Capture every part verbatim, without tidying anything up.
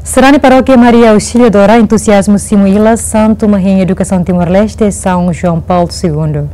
Sarani Parókia Maria Auxiliadora entuziazmu simu ilas Santu Mahin Edukasaun Timor-Leste, São João Paulo Segundo.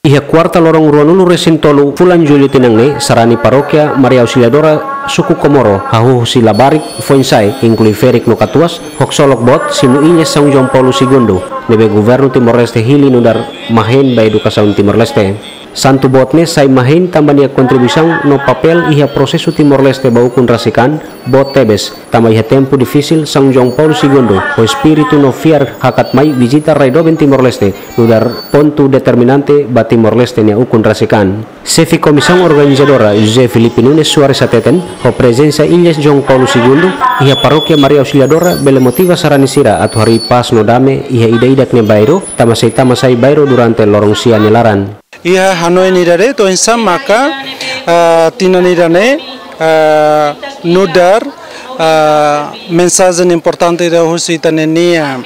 Iha kuarta loron ruanulu resin tolu fulan Jullu tinan ne'e, sarani Parókia Maria Auxiliadora suku Komoro, hahú husi labarik, foin-sa'e, inklui ferik no katuas, ho ksolok boot, simu ilas São João Paulo Segundo, ne'ebé Governu Timor-Leste hili nu'udar mahein ba edukasaun Timor-Leste. Santu boot ne'e sai mahein tanba nia kontribuisaun no papél iha prosesu Timor-Leste ba ukun rasik an, boot tebes, tanba iha tempu difisil São João Paulo Segundo, ho espíritu no fiar hakat mai vizita rai doben Timor-Leste, nu'udar pontu determinante ba Timor-Leste nia ukun rasik an. Xefe Komisaun Organizadora José Filipe Nunes Soares hateten, ho prezensa ilas João Paulo Segundo iha Parókia Maria Auxiliadora bele motiva sarani sira atu harii pás no dame iha ida-idak nia bairru, tanba sei tama-sai bairru durante loron sia nia laran. Iha hanoin ida de'it, oinsá maka, ah, tinan ida-ne'e, ah, nu'udar, ah, mensajen importante ida husi ita-nia,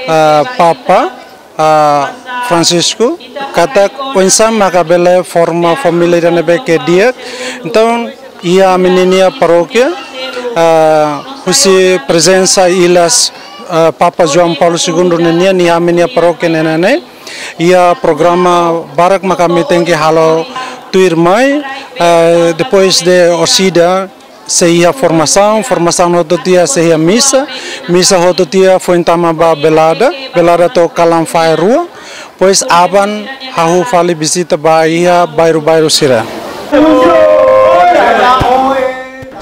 ah, Papa, ah, Francisco, katak oinsá maka bele forma família ida ne'ebé ke di'ak. Entaun, iha ami-nia parókia, ah, husi prezensa ilas, ah, Papa João Paulo Segundo nian, iha ami-nia parókia ne'e, ne'e, iha programa barak maka ami tenke halo tuirmai, eh, depois de orsida sei iha formasaun, formasaun hotu tiha sei iha misa, misa hotu tiha foin tama ba velada, velada to'o kalan fahe rua, depois aban hahú fali vizita ba iha bairru-bairru sira.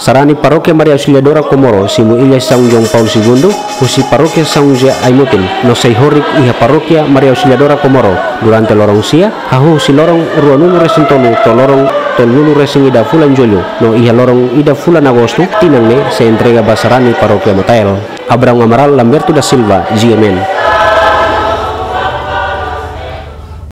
Sarani Parókia Maria Auxiliadora Komoro, simu ilas São João Paulo Segundo, husi Parókia São José Aimutin, no sei horik iha Parókia Maria Auxiliadora Komoro, durante loron sia, hahú husi loron ruanulu resin tolu to'o loron tolunulu resin ida fulan Jullu, no iha loron ida fulan Agostu, tinan ne'e sei entrega ba sarani Parókia Matael. Abrão Amaral, Lamberto da Silva, G M N.